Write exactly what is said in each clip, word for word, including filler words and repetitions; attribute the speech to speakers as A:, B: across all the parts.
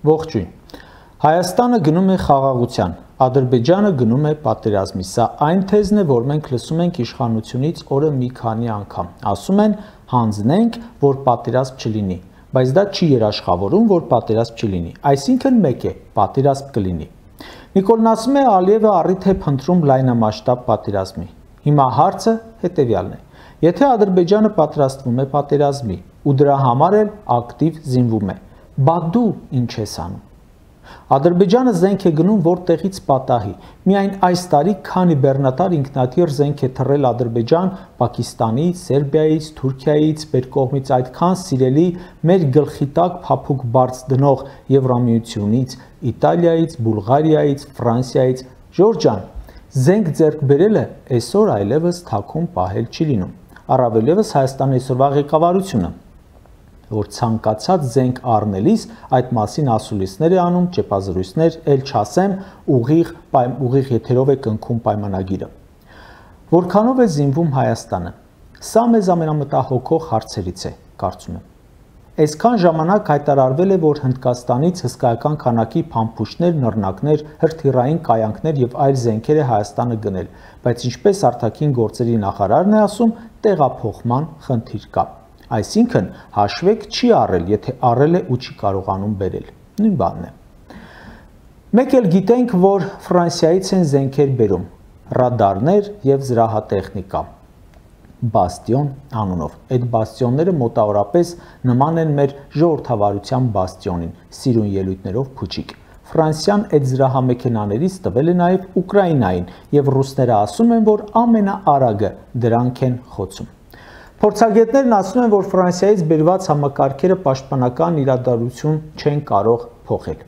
A: Ողջույն։ Հայաստանը գնում է խաղաղության, Ադրբեջանը գնում է պատերազմի։ Սա այն թեզն է, որ մենք լսում ենք իշխանությունից օրը մի քանի անգամ։ Ասում են հանձնենք, որ պատերազմ չլինի, բայց դա չի երաշխավորում, որ պատերազմ չլինի։ Այսինքն մեկ է, պատերազմ կլինի։ Նիկոլն ասում է, Ալիևը առիթ է փնտրում լայնամասշտաբ պատերազմի։ Հիմա հարցը հետևյալն է. եթե Ադրբեջանը պատրաստվում է պատերազմի ու դրա համար էլ ակտիվ զինվում է, բա դու ինչ ես անում։ Ադրբեջանը զենք է գնում որտեղից պատահի։ Միայն այս տարի քանի բեռնատար ինքնաթիռ զենք է թռել Ադրբեջան Պակիստանից, Սերբիայից, Թուրքիայից, մեր կողմից այդքան սիրելի մեր գլխի տակ փափուկ բարձ դնող Եվրամիությունից, Իտալիայից, Բուլղարիայից, Ֆրանսիայից։ Ժորժ ջան, զենք ձեռք բերելը այսօր այլևս թաքուն պահել չի լինում։ Առավել ևս Հայաստանի այսօրվա ղեկավարությունը, որ ցանկացած զենք առնելիս այդ մասին ասուլիսներ է անում, ճեպազրույցներ, ել չասեմ, ուղիղ ուղիղ եթերով է կնքում պայմանագիրը։ Որքանով է զինվում Հայաստանը։ Սա մեզ ամենամտահոգող հարցերից է, կարծում եմ։ Այսքան ժամանակ հայտարարվել է, որ Հնդկաստանից հսկայական քանակի փամփուշտներ, նռնակներ, հրթիռային կայանքներ եւ այլ զենքեր է Հայաստանը գնել, բայց ինչպես արտաքին գործերի նախարարն է ասում, տեղափոխման խնդիր կա։ Այսինքն հաշվեք չի առել, եթե առել է ու չի կարողանում բերել։ Նույն բանն է։ Մեկ էլ գիտենք, որ Ֆրանսիայից են զենքեր բերում, ռադարներ եւ զրահատեխնիկա։ Բաստիոն անունով։ Այդ բաստիոնները մոտավորապես նման են մեր ժողովրդավարության բաստիոնին, սիրուն ելույթներով փուչիկ։ Ֆրանսիան այդ զրահամեքենաներից տվել է նաև Ուկրաինային, եւ ռուսները ասում են, որ ամենաարագը դրանք են խոցում։ Փորձագետներն ասում են, որ Ֆրանսիայից բերված համակարգերը պաշտպանական իրադարձություն չեն կարող փոխել։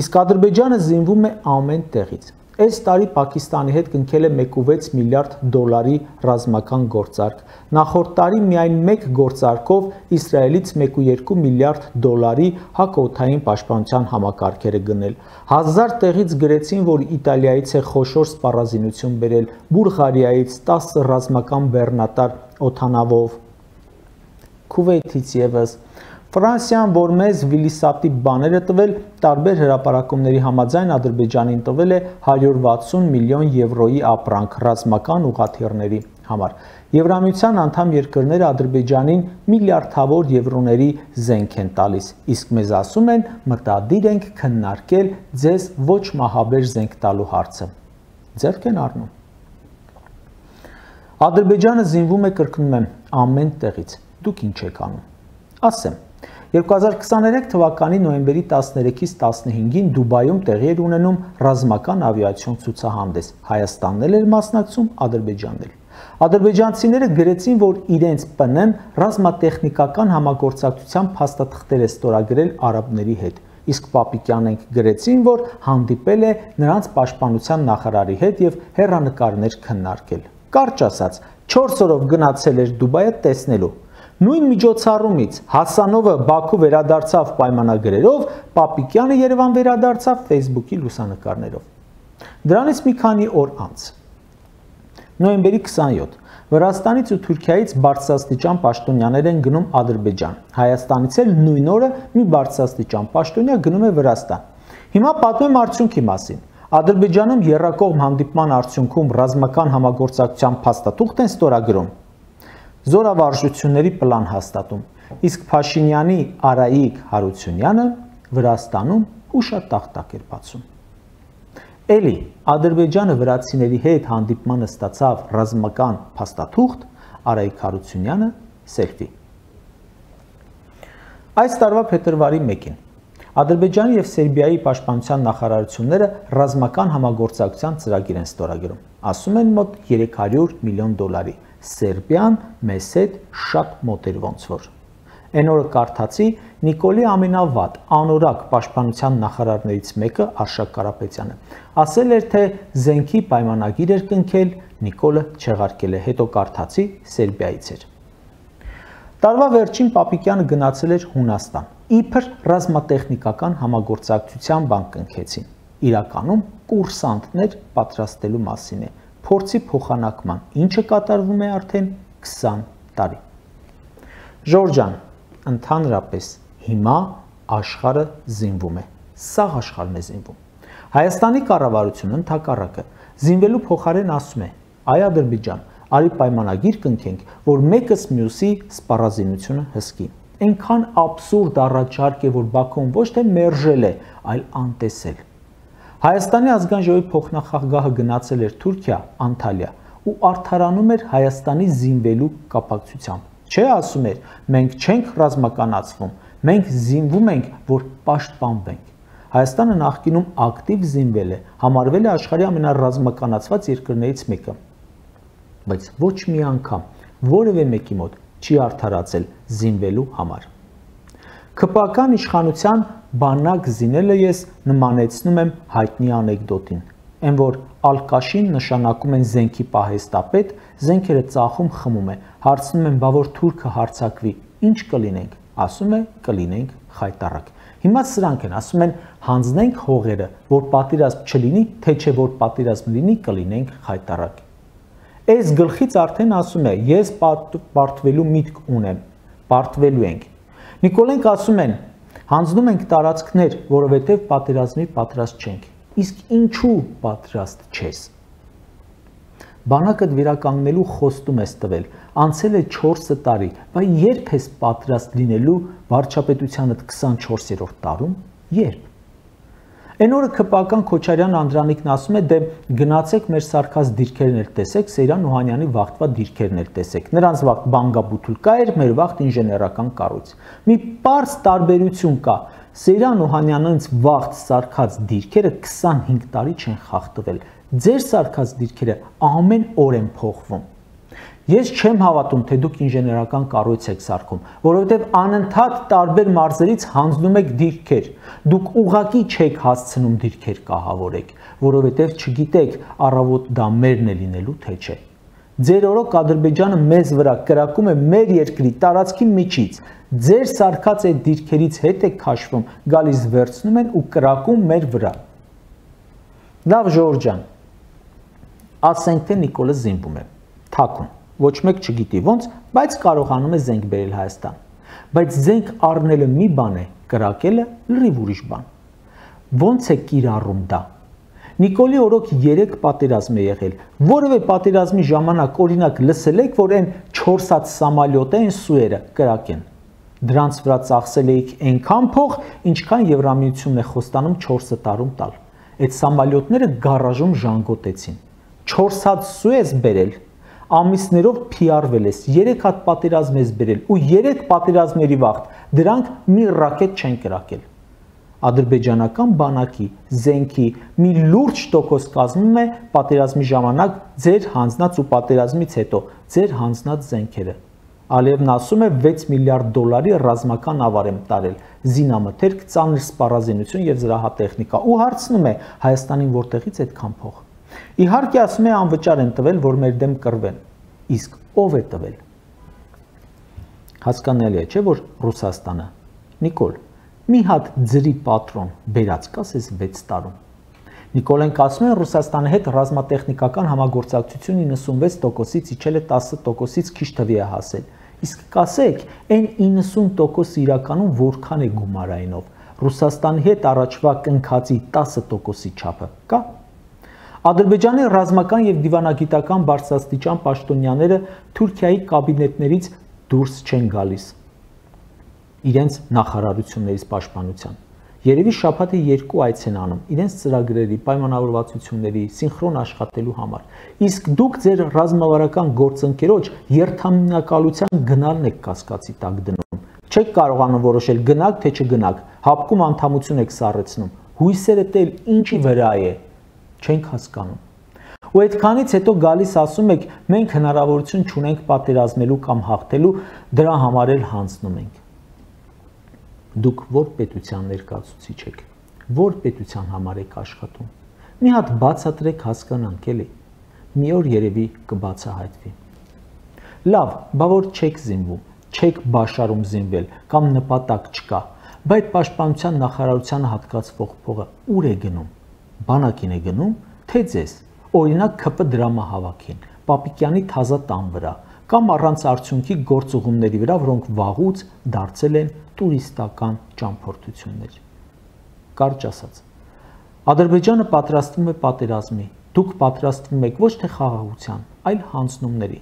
A: Իսկ Ադրբեջանը զինվում է ամեն տեղից։ Այս տարի Պակիստանի հետ կնքել է մեկ կόμμα վեց միլիարդ դոլարի ռազմական գործարք։ Նախորդ տարի միայն մեկ գործարքով Իսրայելից մեկ կόμμα երկու միլիարդ դոլարի հակաօդային պաշտպանության համակարգեր է գնել։ Հազար տեղից գրեցին, որ Իտալիայից է խոշոր սպառազինություն բերել, Բուլղարիայից տասը ռազմական բեռնատար օդանավով, Քուվեյթից ևս։ Ֆրանսիան, որ մեզ վիլիսատի բաներ է տվել, տարբեր հրապարակումների համաձայն Ադրբեջանին տվել է հարյուր վաթսուն միլիոն եվրոյի ապրանք ռազմական ուղղաթիռների համար։ Եվրամիության անդամ երկրները Ադրբեջանին միլիարդավոր եվրոների զենք են տալիս, իսկ մեզ ասում են մտադիր ենք քննարկել ձեզ ոչ մահաբեր զենք տալու հարցը։ Ձեռք են առնում։ Ադրբեջանը զինվում է, կրկնում եմ, ամեն տեղից։ Դուք ինչ եք անում։ Ասեմ, երկու հազար քսաներեք թվականի նոյեմբերի տասներեքից տասնհինգին Դուբայում տեղի էր ունենում ռազմական ավիացիոն ցուցահանդես։ Հայաստանն էլ էր մասնակցում, Ադրբեջանն էլ։ Ադրբեջանցիները գրեցին, որ իրենց ՊՆ-ն ռազմատեխնիկական համագործակցության փաստաթղթեր է ստորագրել արաբների հետ։ Իսկ Պապիկյանենք գրեցին, որ հանդիպել է նրանց պաշտպանության նախարարի հետ եւ հեռանկարներ քննարկել։ Կարճ ասած, չորս օրով գնացել էր Դուբայը տեսնելու։ Նույն միջոցառումից Հասանովը Բաքու վերադարձավ պայմանագրերով, Պապիկյանը Երևան վերադարձավ Facebook-ի լուսանկարներով։ Դրանից մի քանի օր անց, նոյեմբերի քսանյոթ, Վրաստանից ու Թուրքիայից բարձրաստիճան պաշտոնյաներ են գնում Ադրբեջան։ Հայաստանից էլ նույն օրը մի բարձրաստիճան պաշտոնյա գնում է Վրաստան։ Հիմա պատմեմ արդյունքի մասին։ Ադրբեջանում եռակողմ հանդիպման արդյունքում ռազմական համագործակցության փաստաթուղթ են ստորագրում, զորավարժությունների պլան հաստատում, իսկ Փաշինյանի Արայիկ Հարությունյանը Վրաստանում հուշատախտակ էր բացում։ Էլի Ադրբեջանը վրացիների հետ հանդիպմանը ստացավ ռազմական փաստաթուղթ, Արայիկ Հարությունյանը սելֆի։ Այս տարվա փետրվարի մեկին Ադրբեջանի եւ Սերբիայի պաշտպանության նախարարությունները ռազմական համագործակցության ծրագիր են ստորագրում։ Ասում են մոտ երեք հարյուր միլիոն դոլարի։ Սերբիան մեզ հետ շատ մոտ էր ոնց որ։ Այն օրը կարդացի Նիկոլի ամենավատ անորակ պաշտպանության նախարարներից մեկը Արշակ Կարապետյանը ասել էր, թե զենքի պայմանագիր էր կնքել, Նիկոլը չեղարկել է, հետո կարդացի Սերբիայից էր։ Տարվա վերջին Պապիկյանը գնացել էր Հունաստան, իբր ռազմատեխնիկական համագործակցության բան կնքեցին։ Իրականում կուրսանտներ պատրաստելու մասին է, փորձի փոխանակման, ինչը կատարվում է արդեն քսան տարի։ Ժորժ ջան, ընդհանրապես հիմա աշխարհը զինվում է։ Սաղ աշխարհն է զինվում։ Հայաստանի կառավարությունը ընդհակառակը զինվելու փոխարեն ասում է. այ Ադրբեջան, արի պայմանագիր կնքենք, որ մեկս մյուսի սպառազինությունը հսկի։ Այնքան աբսուրդ առաջարկ է, որ Բաքուն ոչ թե մերժել է, այլ անտեսել։ Հայաստանի ազգային ժողովի փոխնախագահը գնացել էր Թուրքիա, Անտալիա ու արդարանում էր Հայաստանի զինվելու կապակցությամբ։ Չէ, ասում էր, մենք չենք ռազմականացվում, մենք զինվում ենք, որ պաշտպանվենք։ Հայաստանը նախկինում ակտիվ զինվել է, համարվել է աշխարհի ամենառազմականացված երկրներից մեկը։ Բայց ոչ մի անգամ որևէ մեկի մոտ չի արդարացել զինվելու համար։ ՔՊԱ-կան իշխանության բանակ զինելը ես նմանեցնում եմ հայտնի անեկդոտին, այն որ ալկաշին նշանակում են զենքի պահեստապետ, զենքերը ծախում խմում է, հարցնում են, բա որ թուրքը հարձակվի, ինչ կլինենք, ասում է կլինենք խայտառակ։ Հիմա սրանք են, ասում են հանձնենք հողերը, որ պատերազմ չլինի, թե չէ որ պատերազմ լինի, կլինենք խայտառակ։ Այս գլխից արդեն ասում է, ես պարտվելու միտք ունեմ, պարտվելու ենք։ Նիկոլենք ասում են, հանձնում ենք տարածքներ, որովհետև պատերազմի պատրաստ չենք։ Իսկ ինչու պատրաստ չես։ Բանակդ վերականգնելու խոստում ես տվել, անցել է չորս տարի, բայց երբ ես պատրաստ լինելու վարչապետությանդ քսանչորսերորդ տարում, երբ։ Այն օրը ՔՊԱ-կան Քոչարյան Անդրանիկն ասում է, դե գնացեք մեր սարքած դիրքերն էլ տեսեք, Սեյրան Օհանյանի վաղտվա դիրքերն էլ տեսեք։ Նրանց վաղտ բանգաբութուլկա էր, մեր վաղտ ինժեներական կառույց։ Մի պարզ տարբերություն կա։ Սեյրան Օհանյանից վաղտ սարքած դիրքերը քսանհինգ տարի չեն խախտվել։ Ձեր սարքած դիրքերը ամեն օր են փոխվում։ Ես չեմ հավատում, թե դուք ինժեներական կառույց եք սարքում, որովհետև անընդհատ տարբեր մարզերից հանձնում եք դիրքեր։ Դուք ուղղակի չեք հասցնում դիրքեր կահավորեք, որովհետև չգիտեք առավոտ դա մերն է լինելու թե չէ։ Ձեր օրոք Ադրբեջանը մեզ վրա կրակում է մեր երկրի տարածքի միջից։ Ձեր սարքած այդ դիրքերից հետ եք քաշվում, գալիս վերցնում են ու կրակում մեր վրա։ Լավ Ժորժ ջան, ասենք թե Նիկոլը զինվում է, թաքուն, ոչ մեկ չգիտի ոնց, բայց կարողանում է զենք բերել Հայաստան։ Բայց զենք առնելը մի բան է, կրակելը լրիվ ուրիշ բան։ Ոնց է կիրառում դա։ Նիկոլի օրոք երեք պատերազմ է եղել։ Որևէ պատերազմի ժամանակ օրինակ լսել եք, որ այն չորս հատ սամալյոտ են սուերը կրակեն։ Դրանց վրա ծախսել էիք այնքան փող, ինչքան Եվրամիությունն է խոստանում չորս տարում տալ։ Այդ սամալյոտները գարաժում ժանգոտեցին։ չորս հատ սու ես բերել, ամիսներով փիարվել ես, երեք հատ պատերազմ ես բերել ու երեք պատերազմների վաղտ դրանք մի ռակետ չեն կրակել։ Ադրբեջանական բանակի զենքի մի լուրջ տոկոս կազմում է պատերազմի ժամանակ ձեր հանձնած ու պատերազմից հետո ձեր հանձնած զենքերը։ Ալիևն ասում է վեց միլիարդ դոլարի ռազմական ավար եմ տարել, զինամթերք, ծանր սպառազինություն եւ զրահատեխնիկա ու հարցնում է Հայաստանին որտեղից այդքան փող։ Իհարկե ասում է անվճար են տվել, որ մեր դեմ կռվեն։ Իսկ ով է տվել։ Հասկանալի է, չէ՞ որ Ռուսաստանը։ Նիկոլ, մի հատ ձրի պատրոն բերած կասես վեց տարում։ Նիկոլենք ասում են Ռուսաստանի հետ ռազմատեխնիկական համագործակցություն իննսունվեց տոկոսից իջել է տասը տոկոսից քիչ թվի է հասել։ Իսկ կասեք, այն իննսուն տոկոս իրականում որքան է գումարայինով։ Ռուսաստանի հետ առաջվա կնքածի տասը տոկոսի չափը կա։ Ադրբեջանի ռազմական եւ դիվանագիտական բարձրաստիճան պաշտոնյաները Թուրքիայի կաբինետներից դուրս չեն գալիս իրենց նախարարություններից պաշտպանության։ Երևի շաբաթը երկու այց են անում իրենց ծրագրերի, պայմանավորվածությունների, սինխրոն աշխատելու համար։ Իսկ դուք ձեր ռազմավարական գործընկերոջ երթամինակալության գնալն եք կասկածի տակ դնում։ Չեք կարողանում որոշել գնաք թե չգնաք, հապկում անդամություն եք սառեցնում։ Հույսերը տել ինչի վրա է, չենք հասկանում։ Ու այդքանից հետո գալիս ասում եք, մենք հնարավորություն չունենք պատերազմելու կամ հաղթելու, դրա համար էլ հանձնում ենք։ Դուք որ պետության ներկայացուցիչ եք, որ պետության համար եք աշխատում։ Մի հատ բացատրեք հասկանանք էլի։ Մի օր երևի կբացահայտվի։ Լավ, բա որ չեք զինվում, չեք բաշարում զինվել կամ նպատակ չկա, բայց պաշտպանության նախարարությանը հատկացվող փողը ուր է գնում։ Բանակին է գնում, թե ձեզ։ Օրինակ ՔՊ դրամահավաքին, Պապիկյանի թազա տան վրա, կամ առանց արդյունքի գործուղումների վրա, որոնք վաղուց դարձել են տուրիստական ճամփորդություններ։ կարճ ասած։ Ադրբեջանը պատրաստվում է պատերազմի, դուք պատրաստվում եք ոչ թե խաղաղության, այլ հանձնումների։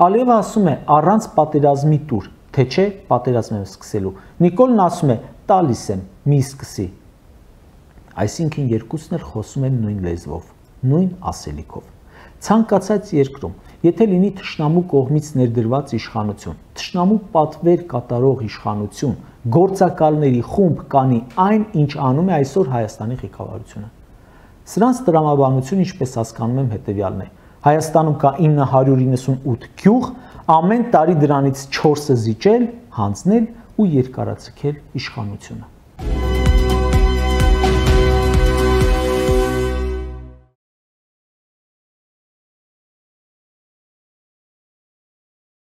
A: Ալիևը ասում է առանց պատերազմի տուր, թե չէ պատերազմ եմ սկսելու։ Նիկոլն ասում է տալիս եմ, մի սկսի։ Այսինքն երկուսն էլ խոսում են նույն լեզվով, նույն ասելիքով։ Ցանկացած երկրում, եթե լինի թշնամու կողմից ներդրված իշխանություն, թշնամու պատվեր կատարող իշխանություն, գործակալների խումբ կանի այն, ինչ անում է այսօր Հայաստանի ղեկավարությունը։ Սրանց տրամաբանությունը, ինչպես հասկանում եմ, հետևյալն է. Հայաստանում կա ինը հարյուր իննսունութ գյուղ, ամեն տարի դրանից չորսը զիջել, հանձնել ու երկարացնել իշխանությունը։